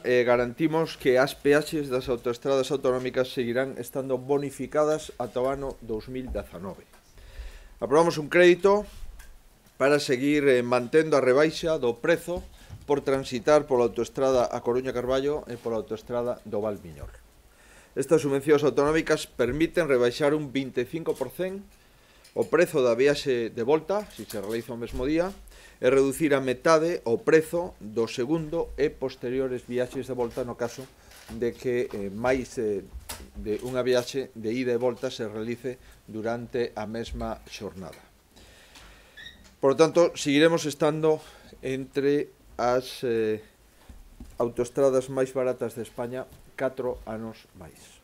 garantimos que as peaxes das autoestradas autonómicas seguirán estando bonificadas ata o ano 2019. Aprobamos un crédito para seguir mantendo a rebaixa do prezo por transitar pola autoestrada A Coruña-Carballo e pola autoestrada do Val Miñor. Estas subvencións autonómicas permiten rebaixar un 25% o prezo da viaxe de volta, se se realiza o mesmo día, e reducir a metade o prezo do segundo e posteriores viaxes de volta no caso de que máis de unha viaxe de ida e volta se realice durante a mesma xornada. Por lo tanto, seguiremos estando entre as autoestradas máis baratas de España 4 anos máis.